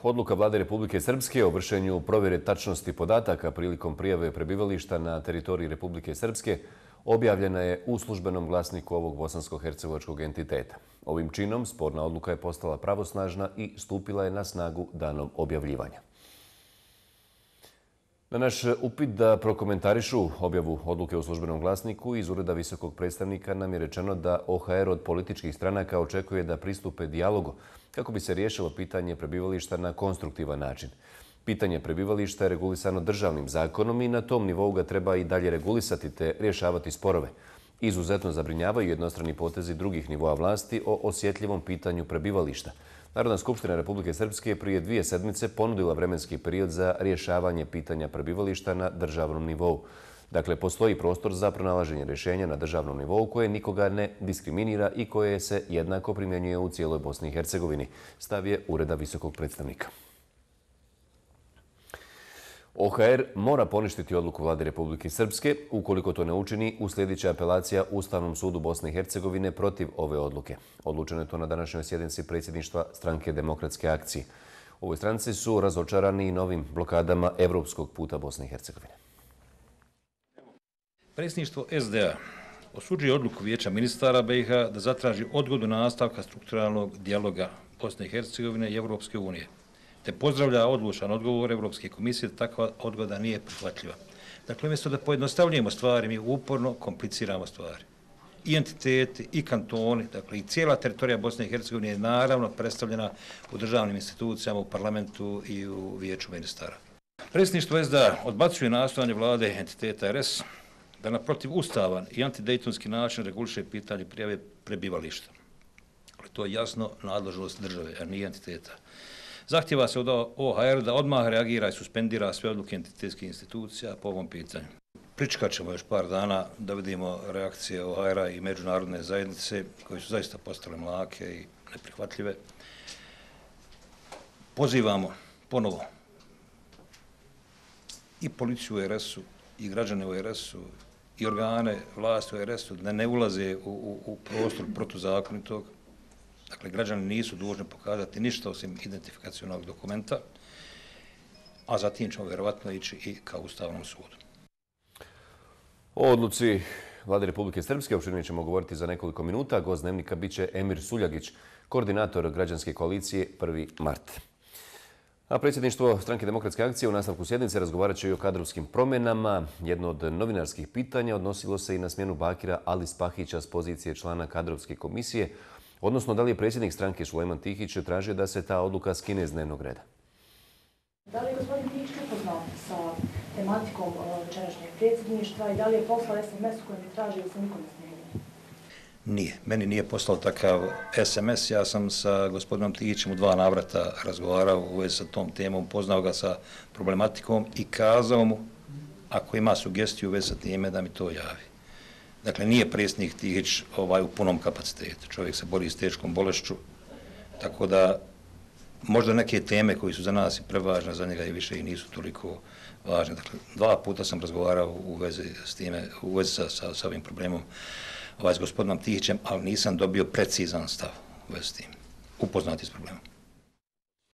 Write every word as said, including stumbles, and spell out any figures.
Odluka Vlade Republike Srpske o vršenju provjere tačnosti podataka prilikom prijave prebivališta na teritoriji Republike Srpske objavljena je u službenom glasniku ovog bosansko-hercegovačkog entiteta. Ovim činom sporna odluka je postala pravosnažna i stupila je na snagu danom objavljivanja. Na naš upit da prokomentarišu objavu odluke u službenom glasniku iz Ureda visokog predstavnika nam je rečeno da O H R od političkih stranaka očekuje da pristupe dijalogu kako bi se riješilo pitanje prebivališta na konstruktivan način. Pitanje prebivališta je regulisano državnim zakonom i na tom nivou ga treba i dalje regulisati te rješavati sporove. Izuzetno zabrinjavaju jednostrani potezi drugih nivoa vlasti o osjetljivom pitanju prebivališta. Narodna skupština Republike Srpske je prije dvije sedmice ponudila vremenski period za rješavanje pitanja prebivališta na državnom nivou. Dakle, postoji prostor za pronalaženje rješenja na državnom nivou koje nikoga ne diskriminira i koje se jednako primjenjuje u cijeloj Bosni i Hercegovini, stav je Ureda visokog predstavnika. O H R mora poništiti odluku Vlade Republike Srpske. Ukoliko to ne učini, uslijedit će apelacija Ustavnom sudu Bosne i Hercegovine protiv ove odluke. Odlučeno je to na današnjoj sjednici predsjedništva Stranke demokratske akcije. U ovoj stranci su razočarani i novim blokadama evropskog puta Bosne i Hercegovine. Predsjedništvo S D A osuđuje odluku Vijeća ministara B i H da zatraži odgodu nastavka strukturalnog dijaloga Bosne i Hercegovine i Evropske unije, te pozdravlja odlučan odgovor Evropske komisije da takva odgoda nije prihvatljiva. Dakle, umjesto da pojednostavljujemo stvari, mi uporno kompliciramo stvari. I entiteti, i kantoni, dakle i cijela teritorija Bosne i Hercegovine je naravno predstavljena u državnim institucijama, u parlamentu i u Vijeću ministara. Predsjedništvo S D A odbacuje nastojanje vlade entiteta R S da na protivustavan i antidejtonski način reguliše pitanje prijave prebivališta. To je jasno nadležnost države, a nije entiteta. Zahtjeva se od O H R da odmah reagira i suspendira sve odluke entitetskih institucija po ovom pitanju. Pričekat ćemo još par dana da vidimo reakcije O H R-a i međunarodne zajednice koje su zaista postale mlake i neprihvatljive. Pozivamo ponovo i policiju u R S-u, i građane u R S-u, i organe vlasti u R S-u da ne ulaze u, u, u prostor protuzakonitog. Dakle, građani nisu dužni pokazati ništa osim identifikacionog dokumenta, a zatim ćemo vjerovatno ići i ka Ustavnom sudu. O odluci Vlade Republike Srpske opširnije ćemo govoriti za nekoliko minuta. Gost dnevnika biće Emir Suljagić, koordinator građanske koalicije prvi mart. A predsjedništvo Stranke demokratske akcije u nastavku sjednice razgovarat će i o kadrovskim promjenama. Jedno od novinarskih pitanja odnosilo se i na smjenu Bakira Ali Spahića s pozicije člana kadrovske komisije, odnosno da li je predsjednik stranke Sulejman Tihić tražio da se ta odluka skine iz dnevnog reda. Da li je gospodin Tihić upoznat sa tematikom večerašnjeg predsjedništva i da li je poslao S M S u kojem je tražio da se nikom ne smijeni? Nije. Meni nije poslao takav S M S. Ja sam sa gospodinom Tihićem u dva navrata razgovarao u vezi sa tom temom, poznao ga sa problematikom i kazao mu, ako ima sugestiju u vezi sa time, da mi to javi. Dakle, nije predsjednik Tihić ovaj, u punom kapacitetu. Čovjek se bori s teškom bolešću, tako da možda neke teme koji su za nas i prevažne, za njega i više i nisu toliko važne. Dakle, dva puta sam razgovarao u vezi s time, u vezi sa, sa, sa ovim problemom ovaj, s gospodinom Tihićem, ali nisam dobio precizan stav u vezi s tim. Upoznati s problemom.